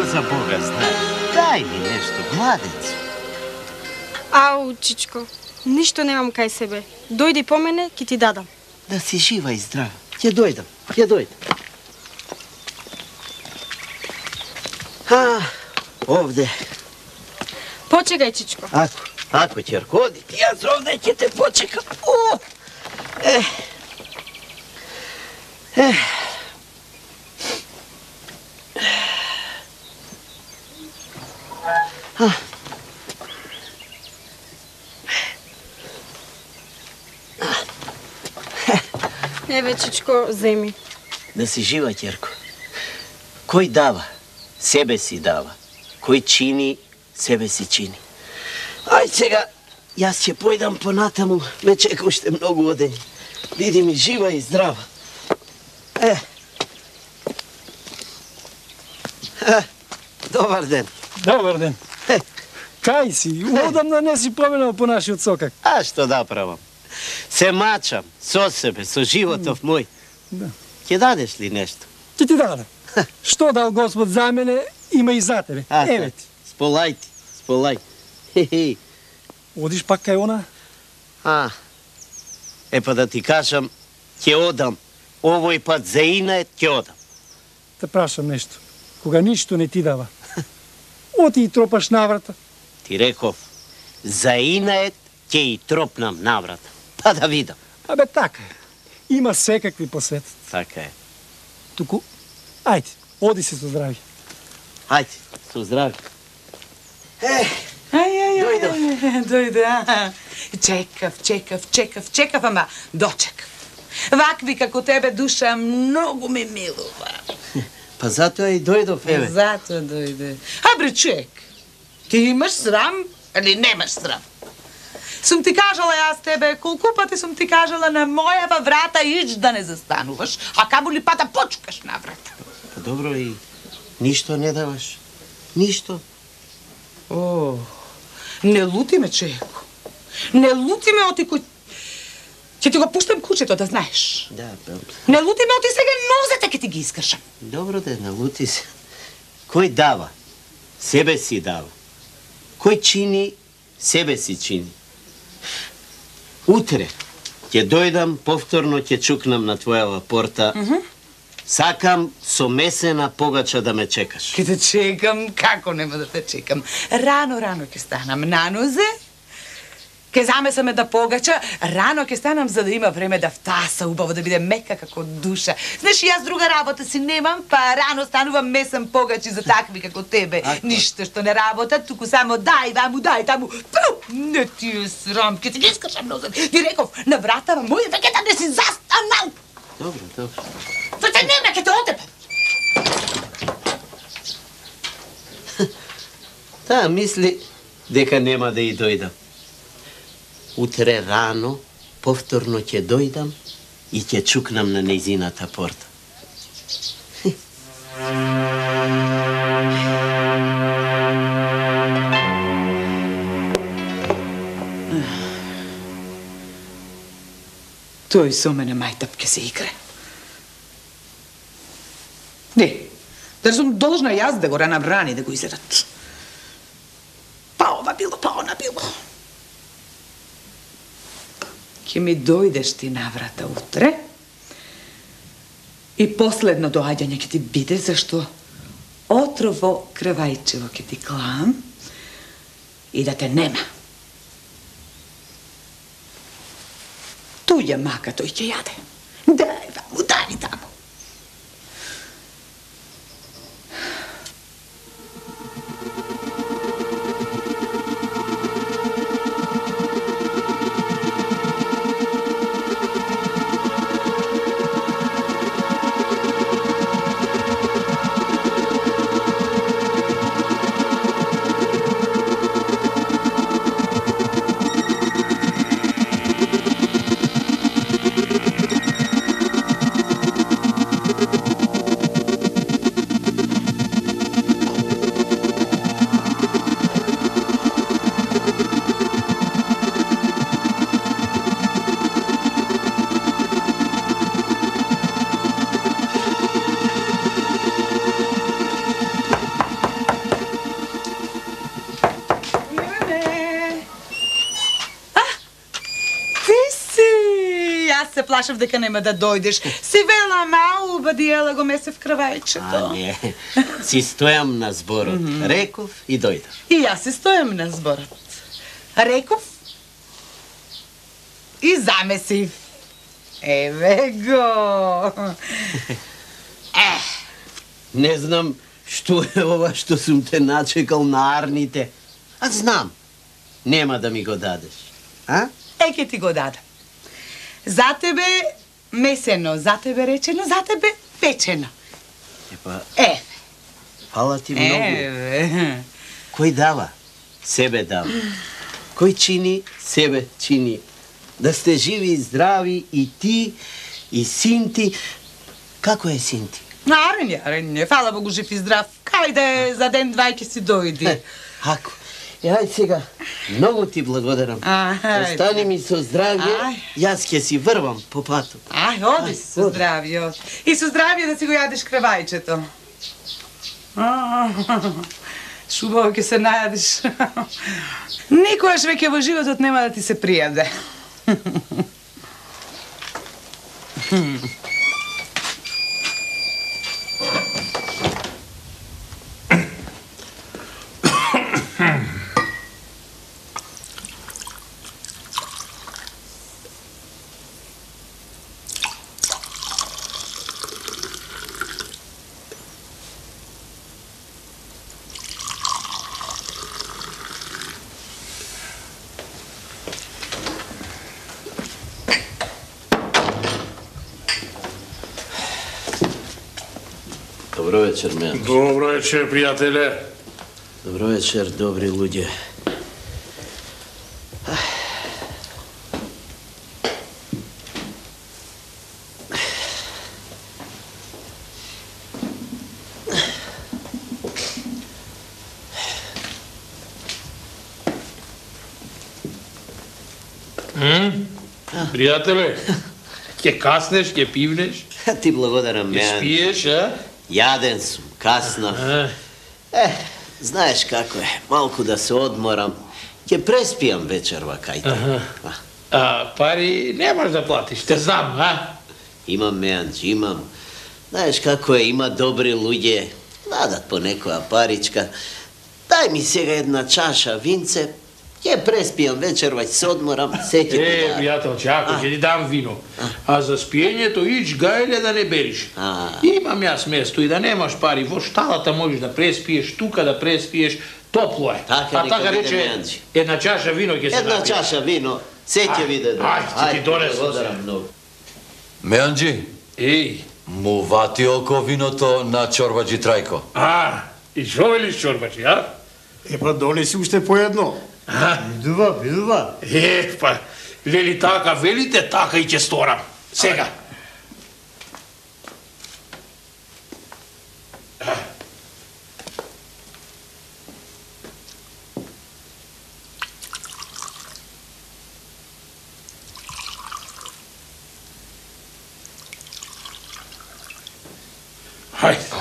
За Бога знае, дај ми нешто, младец. Ау, чичко, ништо немам кај себе. Дојди по мене, ки ти дадам. Да си жива и здрава. Ќе дојдам, ќе дојдам. Овде. Почекај, чичко. Ако ќерко, оди, јас овде ќе те почекам. Еве, чичко, земи. Да си жива, ќерко. Кој дава, себе си дава. Кој чини, себе си чини. Ај сега, јас ќе појдам понатаму, ме чека уште многу одење. Биди ми жива и здрава. Добар ден. Добар ден. Кај си? Одамна не си поменал по нашиот сокак. А што да правам? Се мачам со себе, со животов мој. Ќе дадеш ли нешто? Ќе ти дадам. Што дал Господ за мене, има и за тебе. Еве ти. Сполај ти, сполај. Одиш пак кај она? Па да ти кажам, ќе одам. Овој пат за инает ќе одам. Те прашам нешто. Кога ништо не ти дава, оти и тропаш наврата. Ти реков, за инает ќе и тропнам наврата. Па да видам. Абе така е. Има секакви по светот. Така е. Туку, ајде, оди се со здрави. Ајде, со здрави. Дојде. Чекав, ама дочекав. Вакви како тебе душа многу ме милува. Па затоа и дојдов, еве. Затоа дојде. Бре, човек, ти имаш срам или немаш срам? Сум ти кажала јас тебе, колку пати сум ти кажала на мојава врата ич да не застануваш, а камо ли пата почукаш на врата. Па добро и ништо не даваш. Ништо. Не лути ме, човеко. Не лути ме, оти кој... Ќе ти го пуштам кучето, да знаеш. Да, не лути ме, оти сега нозете ќе ти ги искршам. Добро да налути се. Кој дава, себе си дава. Кој чини, себе си чини. Утре ќе дојдам, повторно ќе чукнам на твојава порта. Сакам со месена погача да ме чекаш. Ке те чекам, како нема да те чекам. Рано ќе станам на нозе, ке замесаме да погача, рано ќе станам за да има време да втаса убаво, да биде мека како душа. Знаеш, јас друга работа си немам, па рано станувам месам погачи за такви како тебе. Ништо што не работат, туку само дај ваму, дај таму. Не ти е срам, ке ти ги искршам нозот. Ти реков, на вратава моја веќе да не си застанал. Добро. Зачем нема ке те одепе? Таа мисли дека нема да и дојдам. Утре рано, повторно ќе дојдам и ќе чукнам на нејзината порта. Тој со мене мајтап ке се игре. Не, да сум должна јас да го набрани, да го изедат. Па ова било, па она било. Ке ми дојдеш ти наврата утре и последно доаѓање ќе ти биде зашто отрово крвајчево ќе ти клам и да те нема. Туѓа мака тој ќе јаде. Дај ваму, дај таму. Плашав дека нема да дојдеш. Си вела мау, бадиела го месев крвајчето. А, не. Си стојам на зборот. Реков и дојдов. И јас си стојам на зборот. Реков и замесив. Еве го. Не знам што е ова што сум те начекал на арните. А знам. Нема да ми го дадеш. А? Ке ти го дадам. За тебе месено, за тебе речено, за тебе печено. Епа, Еве. фала ти многу. Еве. Кој дава? Себе дава. Кој чини? Себе чини. Да сте живи и здрави и ти, и син ти. Како е син ти? Арен, фала Богу, жив и здрав. Кајде за ден-два ќе си дојди. Ако. Ајде сега, многу ти благодарам. Остани ми со здравје, јас ќе си врвам по патот. Оди си со здравје. И со здравје да си го јадеш крвајчето. Шубаво ќе се најадеш. Никогаш веќе во животот нема да ти се пријаде. Добро вечер, Мејанчо. Добро вечер, пријателе. Добро вечер, добри луѓе. Пријателе, ќе каснеш, ќе пивнеш, Ти благодарам, ќе Мејанчо. спиеш, а? Јаден сум, касно. Знаеш како е, малку да се одморам. Ќе преспијам вечерва кај А пари немаш да платиш, те знам, а? Имам, Мејанчо, имам. Знаеш како е, има добри луѓе, дадат по некоја паричка. Дај ми сега една чаша винце, ќе преспијам вечерва, ќе се одморам, се ќе ти дадам. Пријателче, ако ќе ти дам вино, а за спиењето ич гајле да не бериш. Имам јас место и да немаш пари, во шталата можеш да преспиеш, тука да преспиеш, топло е. Така рече, Мејанчо. една чаша вино ќе се Една напиеш. чаша вино, се ќе биде добро. Ајде, ти донесам се. благодарам многу. Мејанџи, Еј, му вати око виното на Чорбаџи Трајко. и шо велиш Чорбаџи, а? Епа, донеси уште по едно. Видува. Па, лели така велите, така и ќе сторам. Сега. Хајде.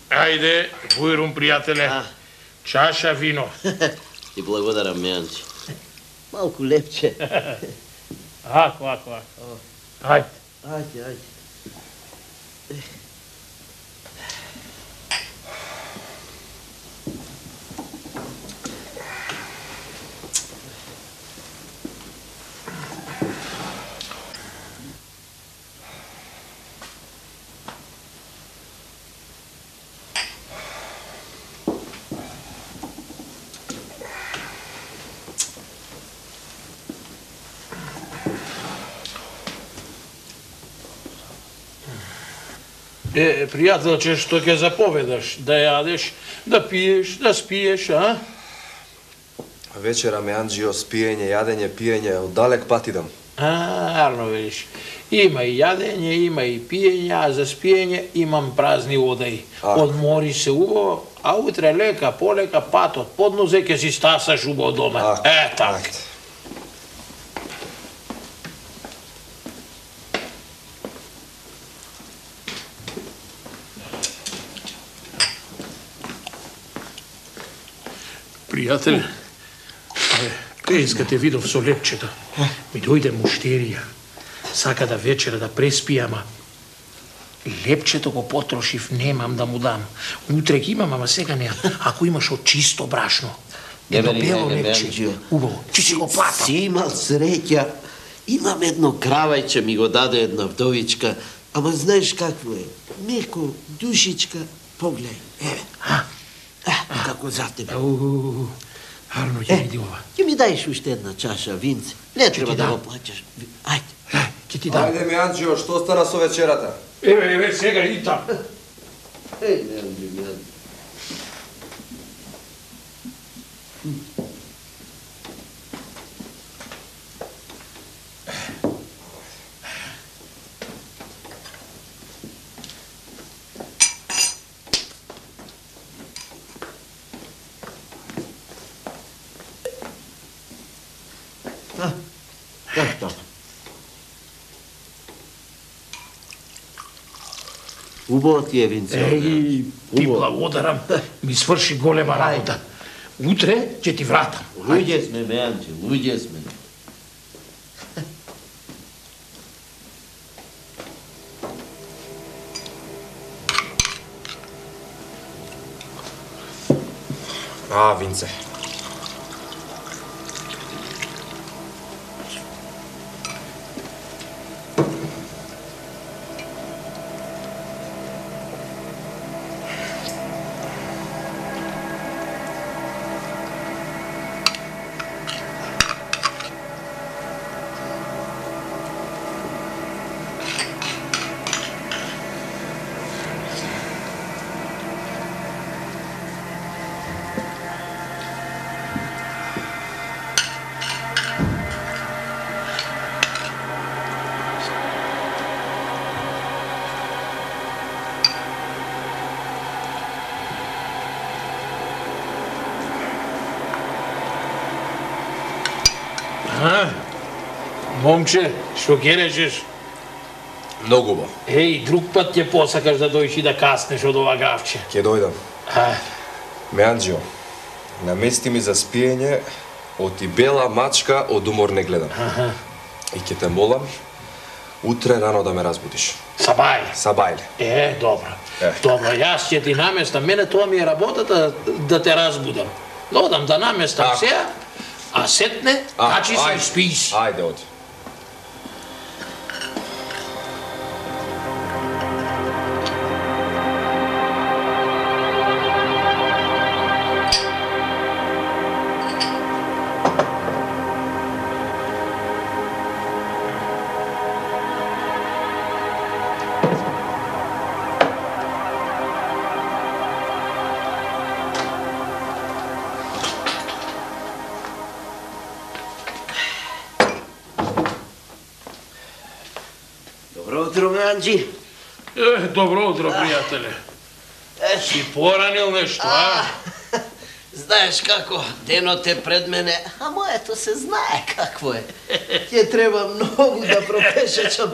Ајде, Бујрум, пријателе. Чаша вино. Ти благодарам, Мејанчи. Малку лепче. Ако. Ајде. Ајде. Пријателче, што ќе заповедаш? Да јадеш, да пиеш, да спиеш, а? Вечера, Мејанџио, спиење, јадење, пиење, од далек пат идам. Арно велиш. Има и јадење, има и пиење, а за спиење имам празни одаи. Одмори се убаво, а утре лека, полека, пат од поднозе ќе си стасаш убаво дома. Така. Пријателе, пејска те видов со лепчета. Ми дојде муштерија. Сака да вечера да преспи, ама лепчето го потрошив, немам да му дам. Утре ги имам, ама сега не. Ако имаш од чисто брашно, едно бело лепче, убаво, че си го платам. Си имал среќа. Имам едно кравајче, ми го даде една вдовичка, ама знаеш какво е? Меко, душичка, погледај, еве. Како за тебе. Арно, ќе види ова. Ќе ми даеш уште една чаша винце. Не треба да го плаќаш. Ајде. Ќе ти дам. Ајде, Мејанџио, што стана со вечерата? Еве, сега и там. Мејанџио. Убаво ти е винце. Ти благодарам. Ми сврши голема работа. Утре ќе ти вратам. Луѓе сме, Мејанче, луѓе сме. Винце. Момче, што ќе речеш? Многу убаво. Друг пат ќе посакаш да дојдеш и да каснеш од ова гавче. Ќе дојдам. Мејанџио, намести ми за спиење од и бела мачка од умор не гледам. И ќе те молам, утре рано да ме разбудиш. Сабајле. Добро. Добро, јас ќе ти наместам. Мене тоа ми е работата да те разбудам. Одам да наместам сега, а сетне, качи се и спи си. Ајде, оди. Мејанџи. Добро утро, пријателе. Си поранил нешто, а? Знаеш како, денот е пред мене, а моето се знае какво е. Ќе треба многу да пропешечам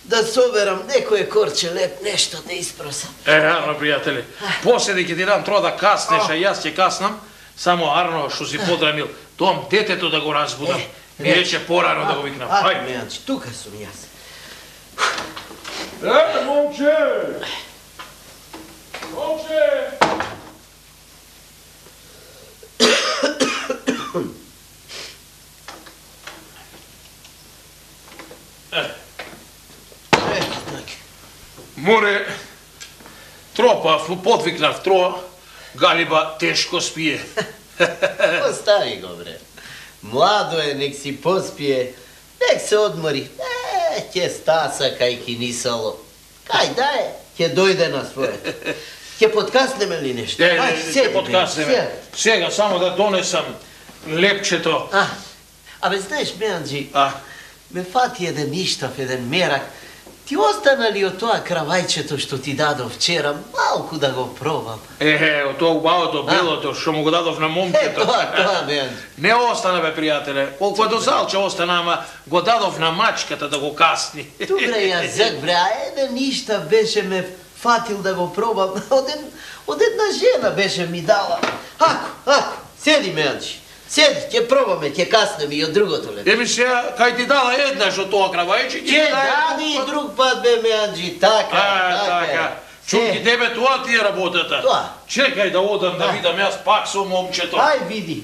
да соберам некое корче леп нешто да испросам. Арно, пријатели, после ќе ти дам тро да каснеш, а јас ќе каснам, само Арно што си подрамил, том детето да го разбудам. Ми рече порано да го викнам. Ајде, Мејанчи, тука сум јас. Момче! Момче! Море, тропав, подвикнав тро, Галиба тешко спие. Остави го, бре. Младо е, нек си поспие, нек се одмори. Ќе стаса кај кинисало. Кај да е, ќе дојде на своето. Ќе подкаснеме ли нешто? Ќе подкаснеме. Сега само да донесам лепчето. Абе, знаеш, Мејанџи, ме фати еден ништав, еден мерак. Ти остана ли од тоа кравајчето што ти дадов вчера, малку да го пробам? Од тоа убавото, белото, што му го дадов на момчето. Тоа, Мејанџи. Не остана, бе, пријателе. Колку е до залче остана, ама го дадов на мачката да го касни. Добре, јазик, бре, а еден ништав беше ме фатил да го пробам. Од една жена беше ми дала. Ако, седи, Мејанџи. Седи, ќе пробаме, ќе каснеме и од другото лето. Еми сега, кај ти дала еднаш од тоа кравајче, ќе даде и друг пат, бе, Мејанџи, така. Чуки, тебе тоа ти е работата. Тоа. Чекај да одам да видам јас пак со момчето. Ај, види.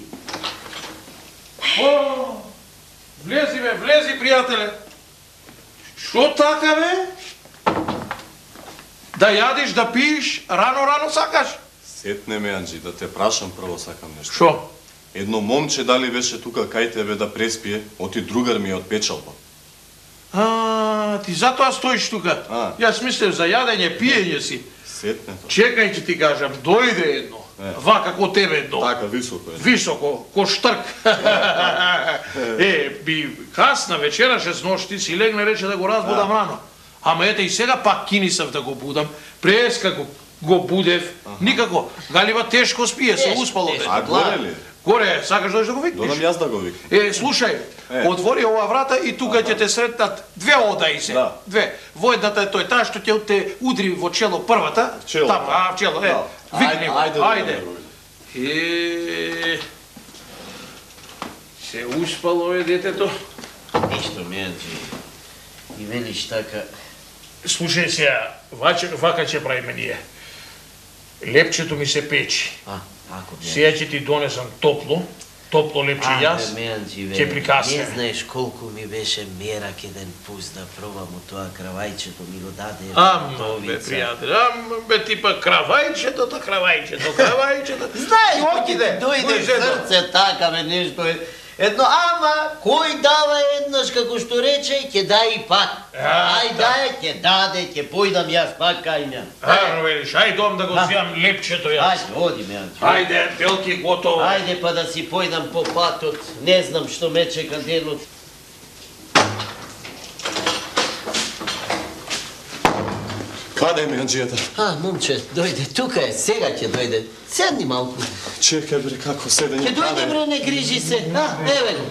Влези, пријателе. Што така, бе? Да јадиш, да пиеш, рано сакаш? Сетне, Мејанџи, да те прашам прво сакам нешто. Што? Едно момче дали беше тука кај тебе да преспие, оти другар ми е од печалба. Ти затоа стоиш тука. Јас мислев за јадење, пиење си. Сетне тоа. Чекај ќе ти кажам, дојде едно. Вака ко тебе едно. Така, високо е. Високо, ко штрк. Би касна вечера, 6 ношти, си легне рече да го разбудам рано. Ама ете и сега пак кинисав да го будам. Преска го будев. Никако. Галиба тешко спие, се успало. А горе ли? Горе, сакаш да го викнеш? Додам јас да го викнем. Слушај, отвори оваа врата и тука ќе те сретнат две одаи се. Две. Во едната е тој таа што ќе те удри во чело првата. Чело. В чело, викни го. Ајде. Се успало е детето. Ништо, Мејанџи. И велиш така. Слушај сега, вака ќе правиме ние. Лепчето ми се печи. Сега ќе ти донесам топло лепче јас, ќе прикасне. Не знаеш колку ми беше мерак еден пус да пробам од тоа кравајчето, ми го даде бе, пријател, бе типа кравајчето. Знаеш, дојде в срце така, бе, нешто е. Едно, ама, кој дава еднаш, како што рече, ќе дај и пак. Ај дај, ќе даде, ќе појдам јас пак кај ме. Арно велиш, ај дом да го зијам лепчето јас. Ајде, оди, Мејанџи. Ајде, Белки, готово. Ајде па да си појдам по патот, не знам што ме чека денот. Каде е Мејанџијата? Момче, дојде, тука е, сега ќе дојде. Седни малку. Чекај, бре, како седење? Ќе дојде, бре, не грижи се. Еве го.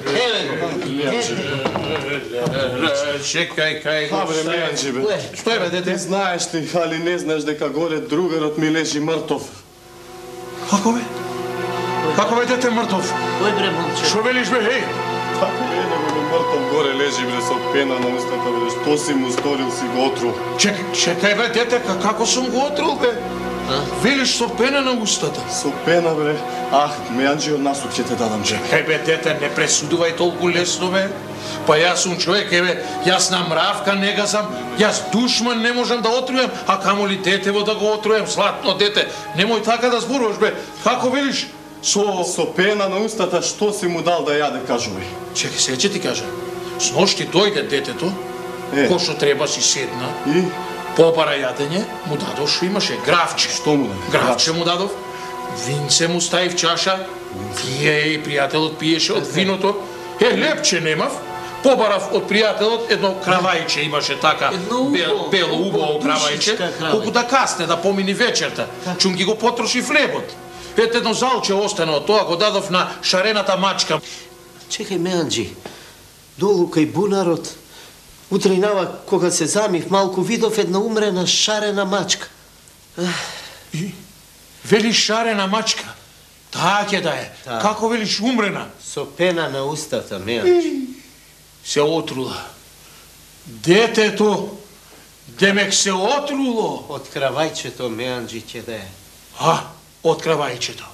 Чекај, кај го. Бре, Мејанџи, бе. Што е, бе, дете? Знаеш ли, али не знаеш дека горе другарот ми лежи мртов. Како бе? Како бе, дете, мртов? Кој, бре, момче? Што велиш, бе, хеј? Така не, него мртов горе лежи, бре, со пена на устата, бре, што си му сторил, си го отрул. Чекај, бе, дете, како сум го отрул, бе? Велиш со пена на устата? Со пена, бре. Мејанџи, од насук ќе те дадам, че. Бе, дете, не пресудувај толку лесно, бе. Па јас сум човек, јас на мравка не газам, јас душман не можам да отрујам, а камоли детево да го отрујам, златно дете. Немој така да зборуваш, бе. Како велиш? Со пена на устата, што си му дал да јаде, кажувај. Чекај, сега ќе ти кажа. Сношти дојде детето, кој што треба си седна, и побара јадење, му дадов што имаше, гравче. Што му дадов? Гравче му дадов, винце му стави в чаша, пие и пријателот пиеше од виното. Лепче немав, побарав од пријателот едно кравајче имаше така, бело убаво кравајче, колку да касне, да помини вечерта. Чум ги го потроши хлебот. Ете едно залче остана од тоа, го дадов на шарената мачка. Чекај, Мејанџи, долу кај бунарот, Утрејнава, кога се замив малку, видов една умрена шарена мачка. И велиш шарена мачка? Таа ќе да е. Како велиш умрена? Со пена на устата, Меанџи. Се отрула. Детето, демек се отруло. Од кравајчето, Меанџи, ќе да е. Од кравајчето.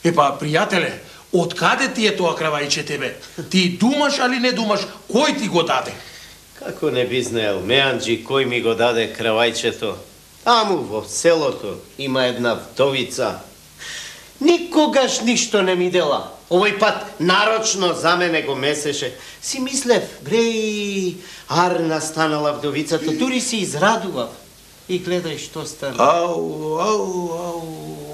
Епа, пријателе, од каде ти е тоа кравајче тебе? Ти думаш али не думаш? Кој ти го даде? Како не би знаел, Меанџи, кој ми го даде кравајчето? Таму во селото има една вдовица. Никогаш ништо не ми дела. Овој пат нарочно за мене го месеше. Си мислев, бреј, арна станала вдовицата, дури си израдував. И гледај што стана.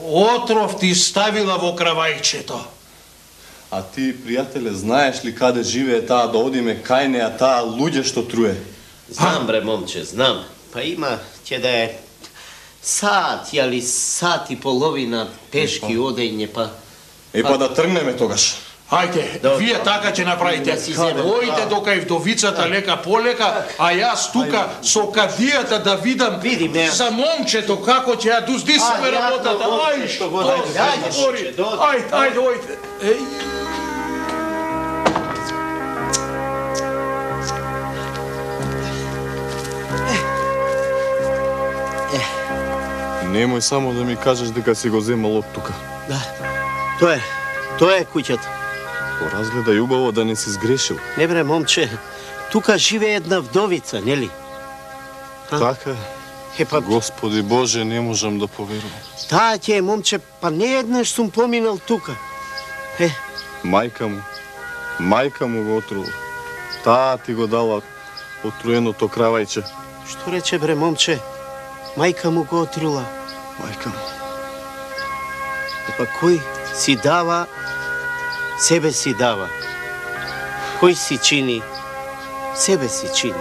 Отров ти ставила во кравајчето. А ти, пријателе, знаеш ли каде живее таа, да одиме кај неа таа луѓе што труе? Знам, бре, момче, знам. Па има, ќе да е сат, јали сат и половина пешки одење, па... Па да тргнеме тогаш. Ајде, вие така ќе направите. Ојде до кај вдовицата лека полека, а јас тука со кадијата да видам за момчето како ќе ја дуздисаме работата. Ајде, ојде. Немој само да ми кажеш дека си го земал од тука. Да, тоа е куќата. Поразгледај убаво да не си сгрешил. Не бре, момче, тука живее една вдовица, нели? Така е. Господи Боже, не можам да поверувам. Таа ќе е, момче, па не еднаш сум поминал тука. Мајка му го отрула. Таа ти го дала отруеното кравајче. Што рече, бре, момче? Мајка му го отрула. Мајка му. Епа кој си дава, себе си дава. Кој си чини, себе си чини.